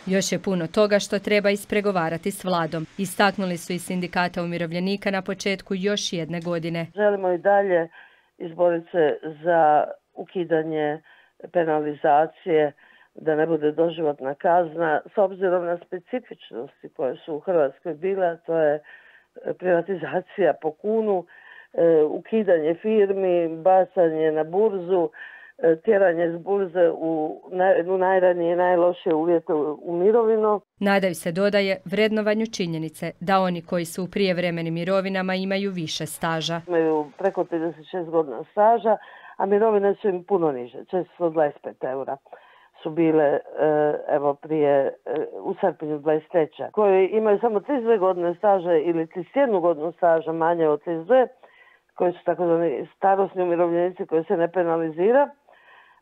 Još je puno toga što treba ispregovarati s vladom. Istaknuli su i sindikata umirovljenika na početku još jedne godine. Želimo i dalje izboriti se za ukidanje penalizacije, da ne bude doživotna kazna, s obzirom na specifičnosti koje su u Hrvatskoj bile, to je privatizacija po kunu, ukidanje firmi, bacanje na burzu, tjeranje s burze u najranije i najlošije uvjete u mirovinu. Nadaju se, dodaje, vrednovanju činjenice da oni koji su u prijevremenim mirovinama imaju više staža. Imaju preko 36 godina staža, a mirovine su im puno niže, 425 eura su bile prije u srpnju 23. koji imaju samo 32 godine staža ili 31 godinu staža manje od 32, koji su takozvani starosni umirovljenici koji se ne penalizira,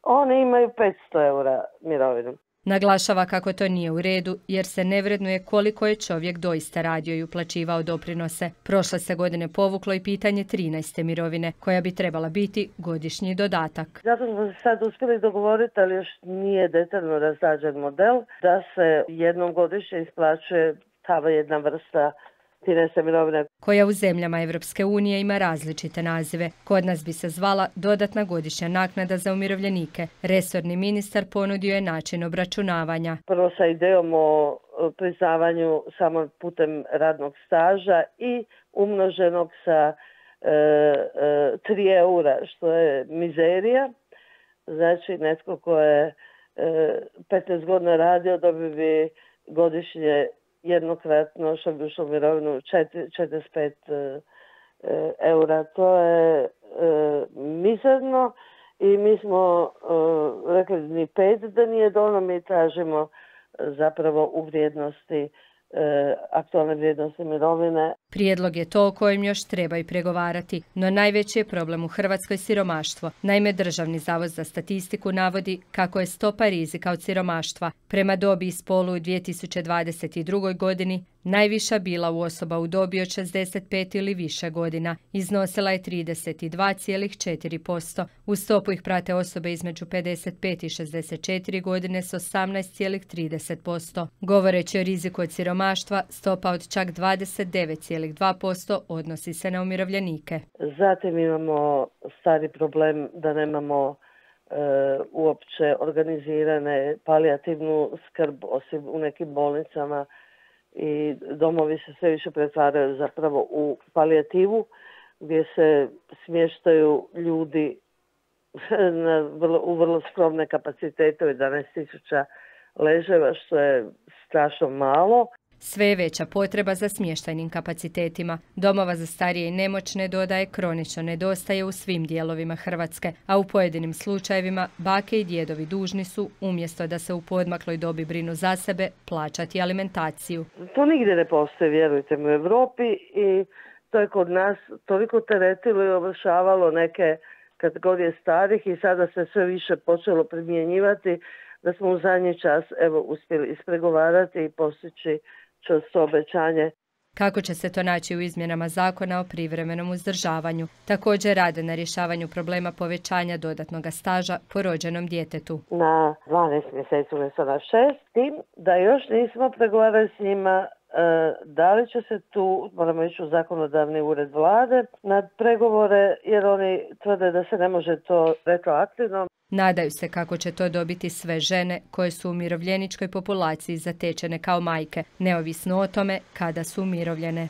oni imaju 500 eura mirovinu. Naglašava kako to nije u redu jer se ne vrednuje koliko je čovjek doista radio i uplaćivao doprinose. Prošle se godine povuklo i pitanje 13. mirovine, koja bi trebala biti godišnji dodatak. Zato smo se sad uspjeli dogovoriti, ali još nije detaljno razrađen model, da se jednom godišnje isplaćuje ta jedna vrsta 13. mirovine, koja u zemljama Evropske unije ima različite nazive. Kod nas bi se zvala dodatna godišnja naknada za umirovljenike. Resorni ministar ponudio je način obračunavanja. Prvo sa idejom o priznavanju samo putem radnog staža i umnoženog sa 3 eura, što je mizerija. Znači, netko ko je 15 godina radio dobio bi godišnje jednokratno, što bi ušlo u mirovinu, 45 eura. To je mizerno i mi smo rekli ni 5 da nije dovoljno, mi tražimo zapravo u vrijednosti, aktualne vrijednosti mirovine. Prijedlog je to o kojem još treba i pregovarati, no najveći je problem u Hrvatskoj siromaštvo. Naime, Državni zavod za statistiku navodi kako je stopa rizika od siromaštva prema dobi i spolu u 2022. godini najviša bila u osoba u dobi od 65 ili više godina. Iznosila je 32,4%. U stopu ih prate osobe između 55 i 64 godine s 18,30%. Govoreći o riziku od siromaštva, stopa od čak 29,2% odnosi se na umirovljenike. Zatim imamo stari problem da nemamo uopće organizirane palijativnu skrb, osim u nekim bolnicama, i domovi se sve više pretvaraju zapravo u palijativu, gdje se smještaju ljudi u vrlo skromne kapacitete, 11.000 leževa, što je strašno malo. Sve je veća potreba za smještajnim kapacitetima. Domova za starije i nemoćne, dodaje, kronično nedostaje u svim dijelovima Hrvatske, a u pojedinim slučajevima bake i djedovi dužni su, umjesto da se u poodmakloj dobi brinu za sebe, plaćati alimentaciju. To nigdje ne postoji, vjerujte mi, u Europi, i to je kod nas toliko teretilo i ovršavalo neke kategorije starih i sada se sve više počelo primjenjivati da smo u zadnji čas uspjeli ispregovarati i postići čvrsto obećanje. Kako će se to naći u izmjenama zakona o privremenom uzdržavanju? Također rade na rješavanju problema povećanja dodatnog staža po rođenom djetetu. Na 12 mjeseci umjesto na 6, tim da još nismo pregovarali s njima da li će se tu, moramo ići u zakonodavni ured vlade, na pregovore, jer oni tvrde da se ne može to retroaktivno. Nadaju se kako će to dobiti sve žene koje su u umirovljeničkoj populaciji zatečene kao majke, neovisno o tome kada su umirovljene.